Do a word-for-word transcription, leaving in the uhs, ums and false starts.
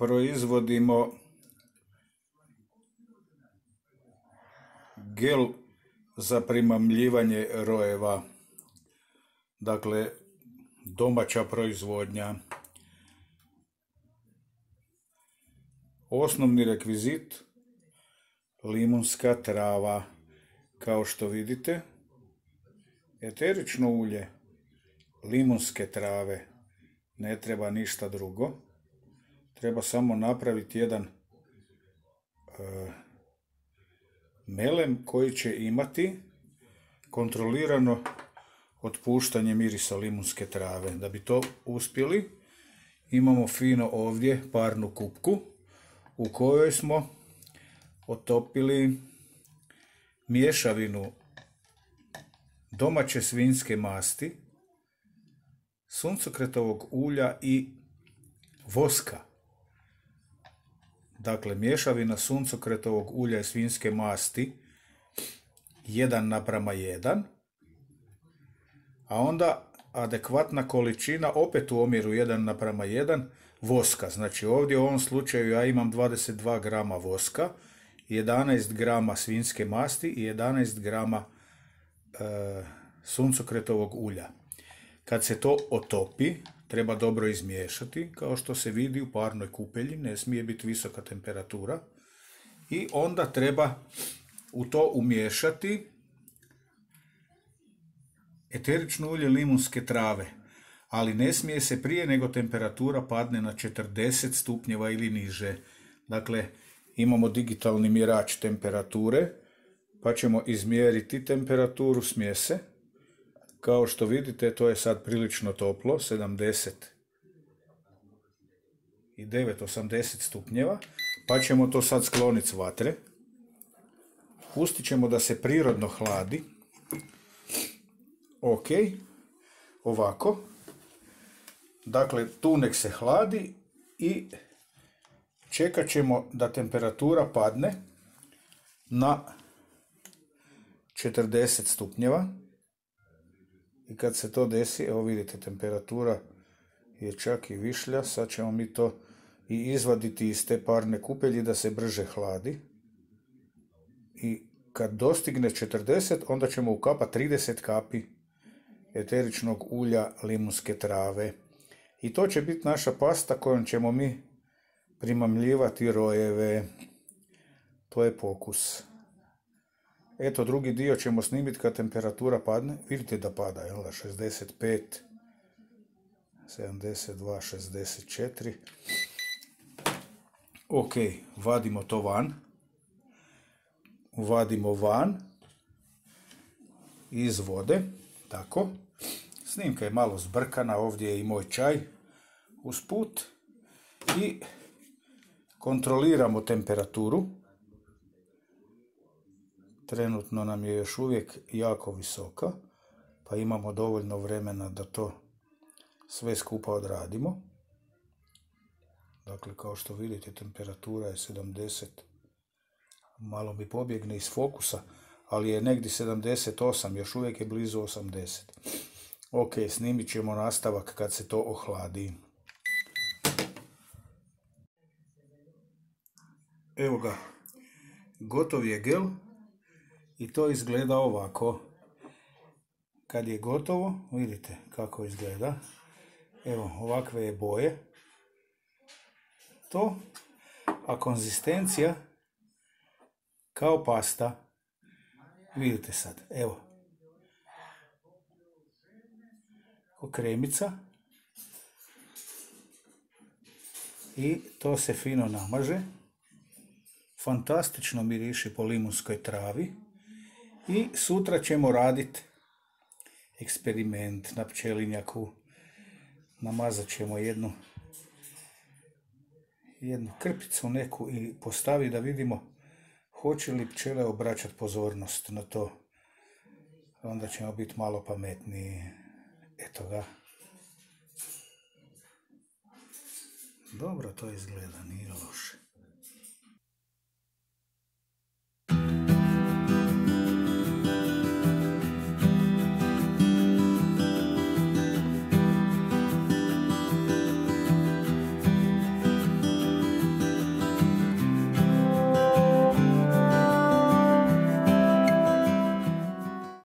proizvodimo gel za primamljivanje rojeva. Dakle, domaća proizvodnja. Osnovni rekvizit limunska trava. Kao što vidite, eterično ulje limunske trave, ne treba ništa drugo. Treba samo napraviti jedan e, melem koji će imati kontrolirano otpuštanje mirisa limunske trave. Da bi to uspjeli, imamo fino ovdje parnu kupku u kojoj smo otopili mješavinu domaće svinjske masti, suncokretovog ulja i voska. Dakle, mješavina suncokretovog ulja i svinjske masti jedan naprama jedan, a onda adekvatna količina opet u omjeru jedan naprama jedan voska. Znači ovdje u ovom slučaju ja imam dvadeset dva grama voska, jedanaest grama svinjske masti i jedanaest grama e, suncokretovog ulja. Kad se to otopi, treba dobro izmiješati, kao što se vidi u parnoj kupelji, ne smije biti visoka temperatura. I onda treba u to umiješati eterično ulje limunske trave, ali ne smije se prije nego temperatura padne na četrdeset stupnjeva ili niže. Dakle, imamo digitalni mjerač temperature, pa ćemo izmjeriti temperaturu smjese. Kao što vidite, to je sad prilično toplo, sedamdeset devet osamdeset stupnjeva, pa ćemo to sad skloniti s vatre. Pustit ćemo da se prirodno hladi. Ok, ovako. Dakle, tu nek se hladi i čekat ćemo da temperatura padne na četrdeset stupnjeva. I kad se to desi, evo vidite, temperatura je čak i višlja. Sad ćemo mi to i izvaditi iz te parne kupelji da se brže hladi. I kad dostigne četrdeset, onda ćemo ukapati trideset kapi eteričnog ulja limunske trave. I to će biti naša pasta kojom ćemo mi primamljivati rojeve. To je pokus. Eto, drugi dio ćemo snimiti kad temperatura padne. Vidite da pada, jel da? šezdeset pet, sedamdeset dva, šezdeset četiri. Ok, vadimo to van. Vadimo van iz vode. Tako. Snimka je malo zbrkana, ovdje je i moj čaj usput. I kontroliramo temperaturu. Trenutno nam je još uvijek jako visoka, pa imamo dovoljno vremena da to sve skupa odradimo. Dakle, kao što vidite, temperatura je sedamdeset. Malo mi pobjegne iz fokusa, ali je negdje sedamdeset osam, još uvijek je blizu osamdeset. Ok, snimit ćemo nastavak kad se to ohladi. Evo ga, gotov je gel. I to izgleda ovako. Kad je gotovo, vidite kako izgleda. Evo, ovakve je boje. To, a konzistencija kao pasta. Vidite sad, evo. Ko kremica. I to se fino namaže. Fantastično miriši po limunskoj travi. I sutra ćemo raditi eksperiment na pčelinjaku. Namazat ćemo jednu, jednu krpicu neku i postaviti da vidimo hoće li pčele obraćati pozornost na to. Onda ćemo biti malo pametniji. Eto ga. Dobro to izgleda, nije loše.